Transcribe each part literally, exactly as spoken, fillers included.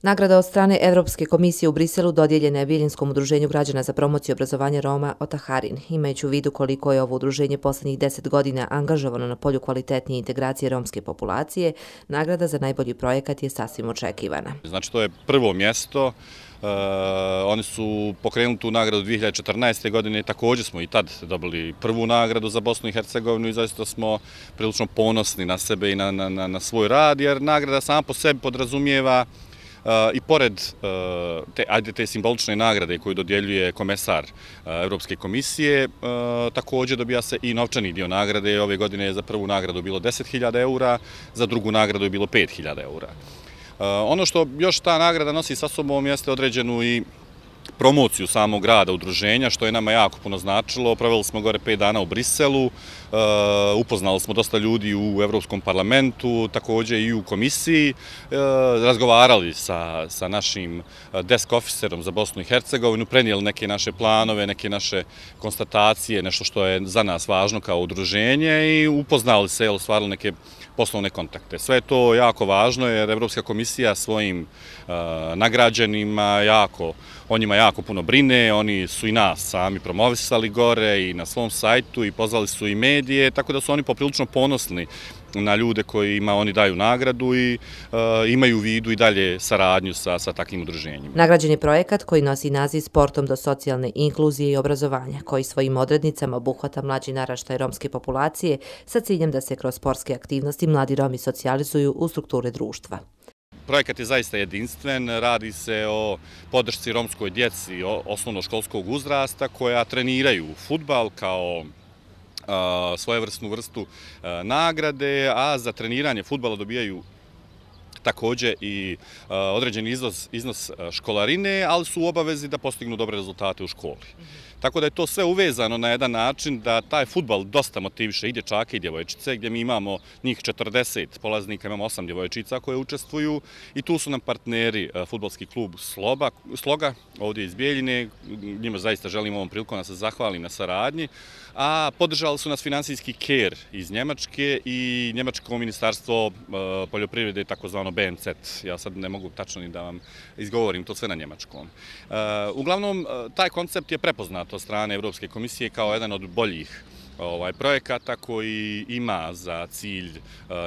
Nagrada od strane Evropske komisije u Briselu dodijeljena je Biljinskom udruženju građana za promociju obrazovanja Roma Otaharin. Imajući u vidu koliko je ovo udruženje posljednjih deset godina angažovano na polju kvalitetnije integracije romske populacije, nagrada za najbolji projekat je sasvim očekivana. Znači, to je prvo mjesto. Uh, oni su pokrenuli tu nagradu dvije hiljade četrnaeste. godine, također smo i tad dobili prvu nagradu za Bosnu i Hercegovinu i zaista smo prilično ponosni na sebe i na, na, na svoj rad, jer nagrada sama po sebi podrazumijeva Uh, i pored uh, te, ajde, te simbolične nagrade koju dodjeljuje komesar uh, Evropske komisije, uh, također dobija se i novčani dio nagrade. Ove godine je za prvu nagradu bilo deset hiljada eura, za drugu nagradu je bilo pet hiljada eura. Uh, ono što još ta nagrada nosi sa sobom jeste određenu i promociju samog rada udruženja, što je nama jako puno značilo. Proveli smo gore pet dana u Briselu, upoznali smo dosta ljudi u Evropskom parlamentu, također i u komisiji, razgovarali sa, sa našim desk officerom za Bosnu i Hercegovinu, prenijeli neke naše planove, neke naše konstatacije, nešto što je za nas važno kao udruženje i upoznali se, ostvarili neke poslovne kontakte. Sve je to jako važno jer Evropska komisija svojim uh, nagrađenima jako, o njima jako puno brine, oni su i nas sami promovisali gore i na svom sajtu i pozvali su i medije, tako da su oni poprilično ponosni na ljude kojima oni daju nagradu i uh, imaju u vidu i dalje saradnju sa, sa takvim udruženjima. Nagrađen je projekat koji nosi naziv Sportom do socijalne inkluzije i obrazovanja, koji svojim odrednicama obuhvata mlađi naraštaj romske populacije sa ciljem da se kroz sportske aktivnosti mladi Romi socijalizuju u strukture društva. Projekat je zaista jedinstven, radi se o podršci romskoj djeci osnovnoškolskog uzrasta koja treniraju fudbal kao svojevrsnu vrstu nagrade, a za treniranje fudbala dobijaju također i određeni iznos, iznos školarine, ali su u obavezi da postignu dobre rezultate u školi. Tako da je to sve uvezano na jedan način da taj fudbal dosta motiviše i dječake i djevojčice, gdje mi imamo njih četrdeset polaznika, imamo osam djevojčica koje učestvuju i tu su nam partneri fudbalski klub Sloba, Sloga, ovdje iz Bijeljine, njima zaista želim ovom prilikom da se zahvalim na saradnji, a podržali su nas finansijski KER iz Njemačke i Njemačko ministarstvo poljoprivrede, takozvano B M Z. Ja sad ne mogu tačno ni da vam izgovorim to sve na njemačkom. Uglavnom, taj koncept je prepoznat od strane Evropske komisije kao jedan od boljih ovaj, projekata koji ima za cilj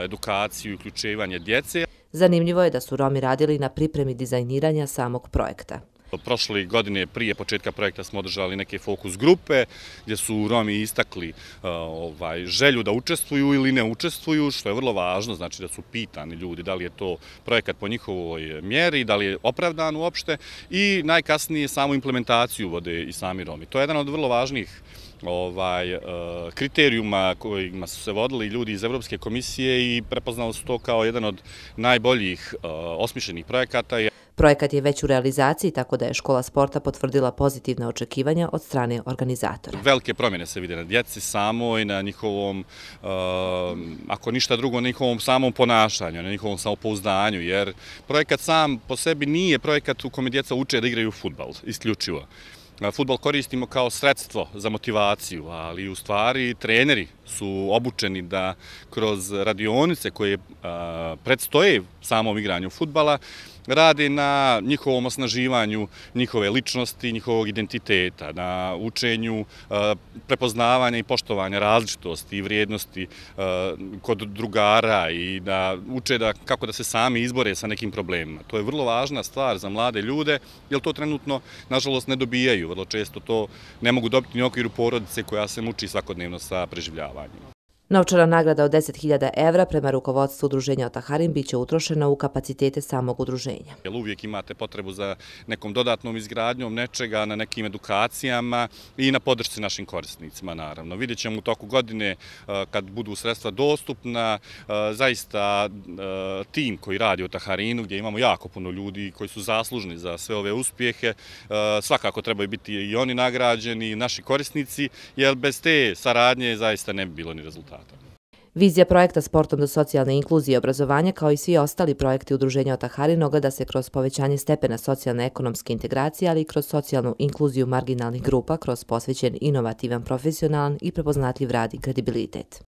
edukaciju i uključivanje djece. Zanimljivo je da su Romi radili na pripremi dizajniranja samog projekta. Prošle godine prije početka projekta smo održali neke fokus grupe gdje su Romi istakli uh, ovaj, želju da učestvuju ili ne učestvuju, što je vrlo važno, znači da su pitani ljudi da li je to projekat po njihovoj mjeri, da li je opravdan uopšte i najkasnije samu implementaciju vode i sami Romi. To je jedan od vrlo važnih ovaj, kriterijuma kojima su se vodili ljudi iz Evropske komisije i prepoznali su to kao jedan od najboljih osmišljenih projekata. Projekat je već u realizaciji, tako da je škola sporta potvrdila pozitivna očekivanja od strane organizatora. Velike promjene se vide na djeci samoj, na njihovom, ako ništa drugo, na njihovom samom ponašanju, na njihovom samopouzdanju, jer projekat sam po sebi nije projekat u kome djeca uče da igraju fudbal, isključivo. Fudbal koristimo kao sredstvo za motivaciju, ali u stvari treneri su obučeni da kroz radionice koje predstoje samom igranju fudbala rade na njihovom osnaživanju njihove ličnosti, njihovog identiteta, na učenju prepoznavanja i poštovanja različitosti i vrijednosti kod drugara i da uče da, kako da se sami izbore sa nekim problemima. To je vrlo važna stvar za mlade ljude, jer to trenutno, nažalost, ne dobijaju. Vrlo često to ne mogu dobiti ni u okviru porodice koja se muči svakodnevno sa preživljavanjem. Novčana nagrada od deset hiljada evra prema rukovodstvu udruženja Otaharin biće utrošena u kapacitete samog udruženja. Uvijek imate potrebu za nekom dodatnom izgradnjom nečega, na nekim edukacijama i na podršci našim korisnicima, naravno. Vidjet ćemo u toku godine, kad budu sredstva dostupna, zaista tim koji radi u Otaharinu, gdje imamo jako puno ljudi koji su zaslužni za sve ove uspjehe, svakako trebaju biti i oni nagrađeni, naši korisnici, jer bez te saradnje zaista ne bi bilo ni rezultata. Vizija projekta Sportom do socijalne inkluzije i obrazovanja, kao i svi ostali projekti udruženja Otaharin, ogleda se kroz povećanje stepena socijalne ekonomske integracije, ali i kroz socijalnu inkluziju marginalnih grupa, kroz posvećen, inovativan, profesionalan i prepoznatljiv rad i kredibilitet.